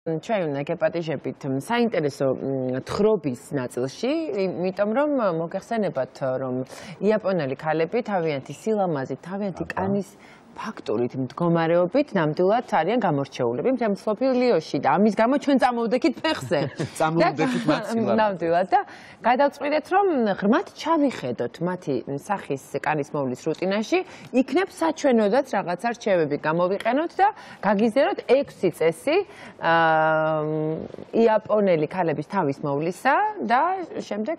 ჩვენ უნდა გეპატიჟებით საინტერესო თხრობის ნაწილში, იმიტომ რომ მოგეხსენებათ, რომ იაპონელი ქალები თავიანთი სილამაზით, თავიანთი კანის ფაქტორით მდგომარეობით ნამდვილად არიან გამორჩეულები მთელ მსოფლიოში და ამის გამო ჩვენ წამოვდექით ფეხზე. წამოვდექით მაცილად. ნამდვილად და გადავწყვიტეთ, რომ ღრმად ჩავიხედოთ მათი სახის კანის მოვლის რუტინაში, იქნებ საჩვენოდაც რაღაცა რჩევები გამოვიყენოთ და გაგიზიაროთ 6 წესი იაპონელი ქალების თავის მოვლისა და შემდეგ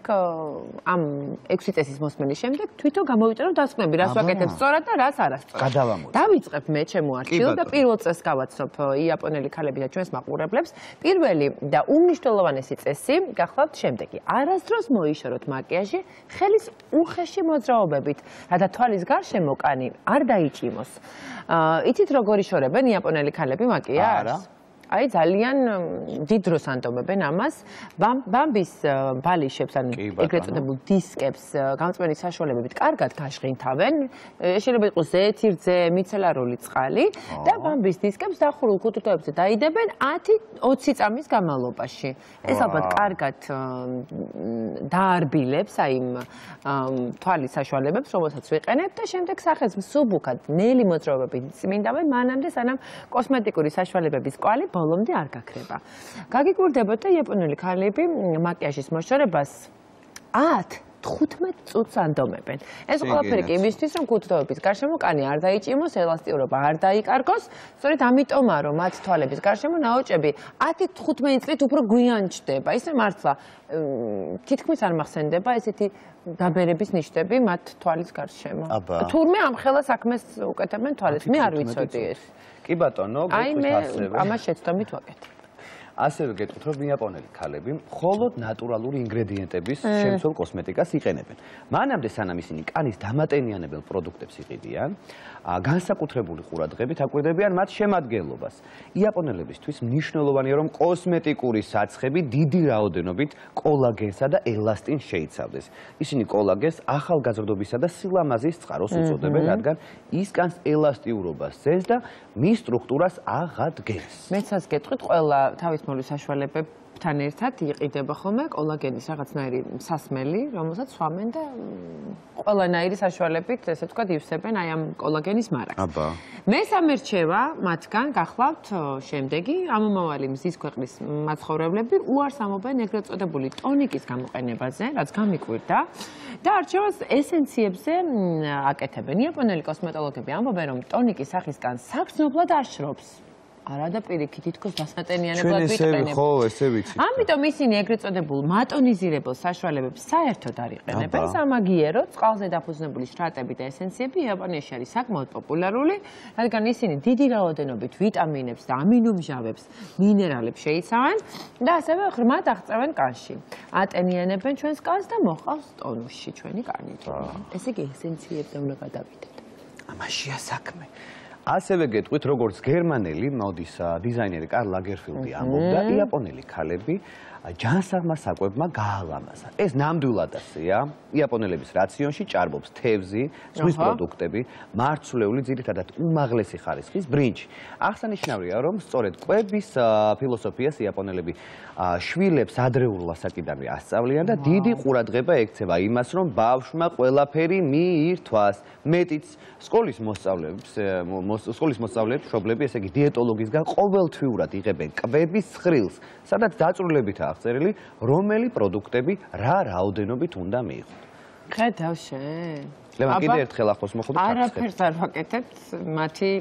ამ 6 წესის მოსმენის შემდეგ თვითონ გამოვიწეროთ დასკვნები, რას ვაკეთებ სწორად და რას არასწორად. დავიწყებ მე ჩემო არქივს და პირველ წესს გავაცნობ იაპონელი ქალები და ჩვენს მაყურებლებს. პირველი და უმნიშვნელოვანესი წესი გახლავთ შემდეგი. არასდროს მოიშოროთ მაკიაჟი ხელის უხეში მოძრაობებით, რათა თვალის გარშემო კანი არ დაიჭიმოს. იცით როგორ იშორებენ იაპონელი ქალები მაკიაჟს? აი ძალიან დიდ დროს ანტომებენ ამას. ბამბის ბალიშებს ან ეგრეთ წოდებულ დისკებს გამწვენის საშუალებებით კარგად გაშღინთავენ. შეიძლება იყოს ზეთი რძე, მიცელარული წყალი და ბამბის დისკებს დახურულ ქუთუთოებზე დაიდებენ 10-20 წამის განმავლობაში. ეს ალბათ კარგად დაარბილებს აი იმ თვალის საშუალებებს, რომელსაც ვიყენებთ და შემდეგ სახეს მსუბუქად ნელი მოძრაობებით წმინდავენ მანამდე სანამ კოსმეტიკური საშუალებების კვალი ბოლომდე არ გაქრება. გაგიგურდებოდ და იაპონელი ქალები მაკიაჟის მოშორებას 10-15 წუთს ანდომებენ. ეს ყველაფერი კი იმისთვის, რომ ქუთუთოების გარშემო კანი არ დაიჭიმოს, ელასტიურობა არ დაიკარგოს, სწორედ ამიტომაა, რომ მათ თვალების გარშემო ნაოჭები 10-15 წლით უფრო გვიან ჩდება. ისე მართლა თითქმის არ მახსენდება ესეთი დაბერების ნიშნები მათ თვალის გარშემო. თურმე ამ ხელა საქმეს უკეთებენ თვალებს, მე არ ვიცოდი ეს. კი ბატონო, გეტყვით ასევე. ამას შეცდომით ვაკეთებ. ასევე გეტყვით, რომ იაპონელი ქალები მხოლოდ ნატურალური ინგრედიენტების შემცველ კოსმეტიკას იყენებენ. მანამდე სანამ ისინი კანის დამატენიანებელ პროდუქტებს იყიდიან, განსაკუთრებული ყურადღებით აკვირდებიან მათ შემადგენლობას. იაპონელებისთვის მნიშვნელოვანია, რომ კოსმეტიკური საცხები დიდი რაოდენობით კოლაგენსა და ელასტინს შეიცავდეს. ისინი კოლაგენს ახალგაზრდობისა და სილამაზის წყაროს უწოდებენ, რადგან ის კანს ელასტიურობას ზენს და მის სტრუქტურას აღადგენს. მეცაც გეტყვით, ყველა თავის მოვლის საშუალებებთან ერთად იყიდება ხოლმე კოლაგენის რაღაცნაირი სასმელი, რომელსაც სვამენ და ყველანაირი საშუალებით, ესე ვთქვათ, ივსებენ აი ამ კოლაგენის მარაგს. მესამე რჩევა მათგან გახლავთ შემდეგი, ამომავალი მზის ქვეყნის მაცხოვრებლები უარს ამობენ ეგრეთ წოდებული ტონიკის გამოყენებაზე, რაც გამიკვირდა და არჩევას ესენციებზე აკეთებენ. იაპონელი კოსმეტოლოგები ამბობენ, რომ ტონიკის სახის კანს საგრძნობლად აშრობს. არა და პირიქით თითქოს დასატენიანებლად ვიყენებ. ამიტომ ისინი ეგრეთ წოდებულ მატონიზირებელ საშუალებებს საერთოდ არ იყენებენ. სამაგიერო, წყალზე დაფუძნებული შრატები და ესენციები იაპონიაში არის საკმაოდ პოპულარული, რადგან ისინი დიდი რაოდენობით ვიტამინებს და ამინომჟავებს, მინერალებს შეიცავენ და ასევე ღრმად აღწევენ კანში. ატენიანებენ ჩვენს კანს და მოყავს ტონუსში ჩვენი კანი. ესე იგი ესენციებზე უნდა გადავიდეთ. ამაშია საქმე. ასევე გეტყვით, როგორც გერმანელი მოდის დიზაინერი კარლ ლაგერფილდი ამბობდა, იაპონელი ქალები ჯანსაღმა საკვებმა გაალამაზა. ეს ნამდვილად ასეა. იაპონელების რაციონში ჭარბობს თევზი, ზღვის პროდუქტები, მარცვლეული, ძირითადად უმაღლესი ხარისხის ბრინჯი. აღსანიშნავია, რომ სწორედ კვების ფილოსოფიას იაპონელები შვილებს ადრეულ ასაკიდანვე ასწავლიან და დიდი ყურადღება ექცევა იმას, რომ ბავშვმა ყველაფერი მიირთვას. მეტიც სკოლის მოსწავლეებს მშობლები, ესე იგი დიეტოლოგისგან ყოველთვიურად იღებენ კვების ცხრილს, სადაც დაწვრილებითაა აღწერილი, რომელი პროდუქტები რა რაოდენობით უნდა მიიღოთ. ხედავ შე. ლევან, კიდე ერთხელ ახლოს მოხდა ჩაქცეთ. არაფერს არ ვაკეთებთ მათი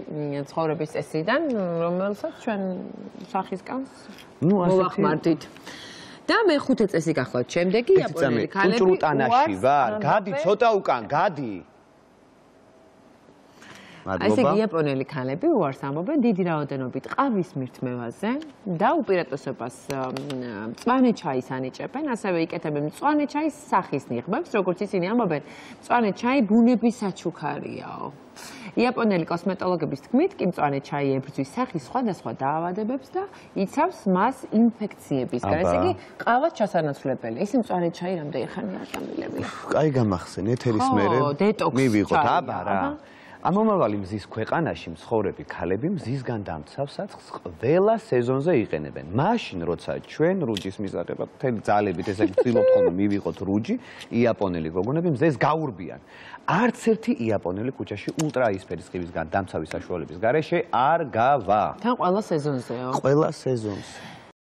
ცხოვრების წესიდან, რომელსაც ჩვენ სახის კანს მოვახმარდით. და მეხუთე წესი გახლავთ შემდეგი იაპონელი ქალები ჭრუტანაში ვარ, გადი ცოტა უკან, გადი. ესე იგი იაპონელი ქალები უარს ამბობენ დიდი რაოდენობით ყავის მირთმევაზე და უპირატესობას მწვანე ჩაის ანიჭებენ, ასევე იკეთებენ მწვანე ჩაის სახის ნიღბებს, როგორც ისინი ამბობენ, მწვანე ჩაი ბუნების საჩუქარიაო. იაპონელი კოსმეტოლოგების თქმით, კი მწვანე ჩაი ებრძვის სახის სხვადასხვა დაავადებებს და იცავს მას ინფექციებისგან. ესე იგი, ყავაც ჩასანაცვლებელი. ის მწვანე ჩაი რამდენი ხანი არ დამილები. კაი გამახსენ, ეთერის მერე მივიღოთ, აბა რა. ამომავალი მზის ქვეყანაში მცხოვრები ქალები მზისგან დამცავ საცხს ყველა სეზონზე იყენებენ. მაშინ როცა ჩვენ რუჯის მისაღებად მთელი ძალებით ესე ვცდილობთ ხოლმე მივიღოთ რუჯი, იაპონელი გოგონები მზეს გაურბიან. არც ერთი იაპონელი ქუჩაში ულტრაისფერი სხივისგან დამცავი საშუალების გარეშე არ გავა. თან ყველა სეზონზეო. ყველა სეზონზე.